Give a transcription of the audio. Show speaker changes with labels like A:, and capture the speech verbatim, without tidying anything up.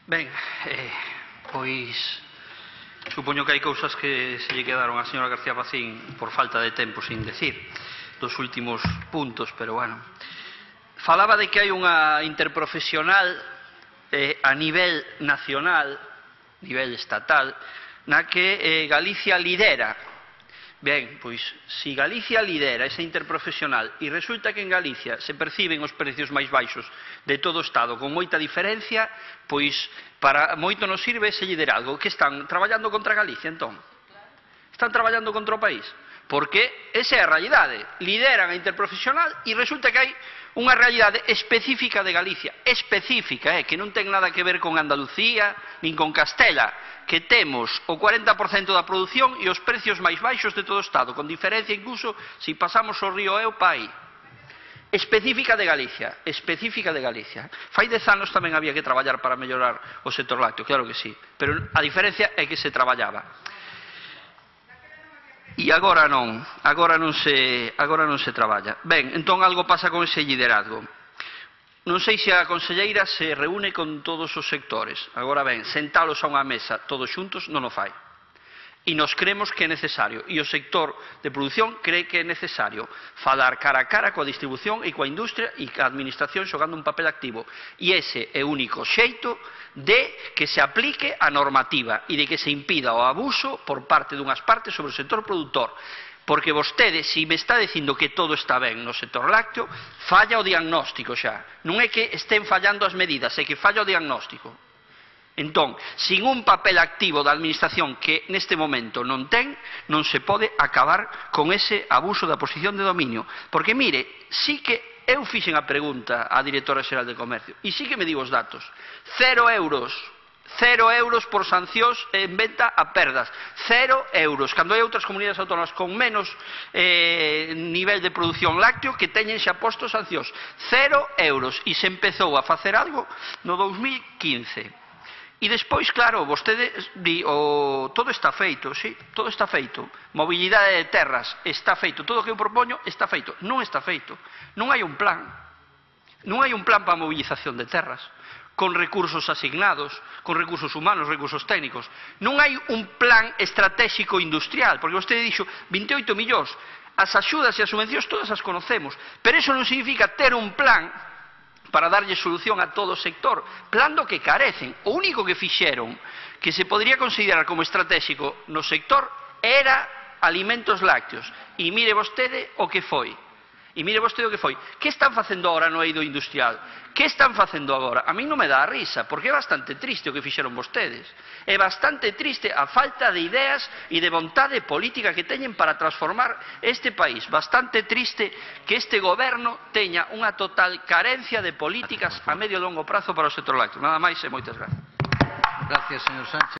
A: Ben, eh, pois supoño que hai cousas que se lle quedaron a señora García Pacín por falta de tempo sin decir dos últimos puntos, pero bueno, falaba de que hai unha interprofesional eh, a nivel nacional, nivel estatal, na que eh, Galicia lidera. Ben, pois, se Galicia lidera esa interprofesional e resulta que en Galicia se perciben os precios máis baixos de todo o Estado con moita diferencia, pois para moito nos sirve ese liderazgo. Que están traballando contra Galicia, entón? Están traballando contra o país? Porque esa é a realidade. Lideran a interprofesional e resulta que hai unha realidade específica de Galicia, específica, eh, que non ten nada que ver con Andalucía nin con Castela, que temos o cuarenta por cento da produción e os precios máis baixos de todo o Estado, con diferencia incluso se pasamos o río Eo pa aí. Específica de Galicia, específica de Galicia. Fai dez anos tamén había que traballar para mellorar o sector lácteo, claro que sí, pero a diferencia é que se traballaba. E agora non, agora non se, agora non se traballa. Ben, entón algo pasa con ese liderazgo. Non sei se a conselleira se reúne con todos os sectores. Agora ben, sentalos a unha mesa todos xuntos non o fai. E nos creemos que é necesario, e o sector de produción cree que é necesario falar cara a cara coa distribución e coa industria e coa administración xogando un papel activo. E ese é o único xeito de que se aplique a normativa e de que se impida o abuso por parte dunhas partes sobre o sector produtor. Porque vostede, se me está dicindo que todo está ben no sector lácteo, falla o diagnóstico xa. Non é que estén fallando as medidas, é que falla o diagnóstico. Entón, sin un papel activo da administración que neste momento non ten, non se pode acabar con ese abuso da posición de dominio. Porque, mire, sí que eu fixen a pregunta á directora xeral de Comercio e sí que me digo os datos. Cero euros, cero euros por sancións en venta a perdas. Cero euros, cando hai outras comunidades autónomas con menos eh, nivel de produción lácteo que teñen xa posto sancións. Cero euros, e se empezou a facer algo no dous mil quince. E despois, claro, vostede di, o, todo está feito, sí, todo está feito. Mobilidade de terras está feito, todo o que eu propoño está feito. Non está feito. Non hai un plan. Non hai un plan para a mobilización de terras, con recursos asignados, con recursos humanos, recursos técnicos. Non hai un plan estratégico industrial, porque vostede dixo vinte e oito millóns. As axudas e as subvencións todas as conocemos, pero iso non significa ter un plan para darlle solución a todo o sector, plan do que carecen. O único que fixeron que se podría considerar como estratégico no sector era alimentos lácteos. E mire vostede o que foi. E mire vostede o que foi. Que están facendo agora no eido industrial? Que están facendo agora? A mí non me dá a risa, porque é bastante triste o que fixeron vostedes. É bastante triste a falta de ideas e de vontade política que teñen para transformar este país. Bastante triste que este goberno teña unha total carencia de políticas a medio e longo prazo para o sector lácteo. Nada máis e moitas gracias.
B: Gracias, señor Sánchez.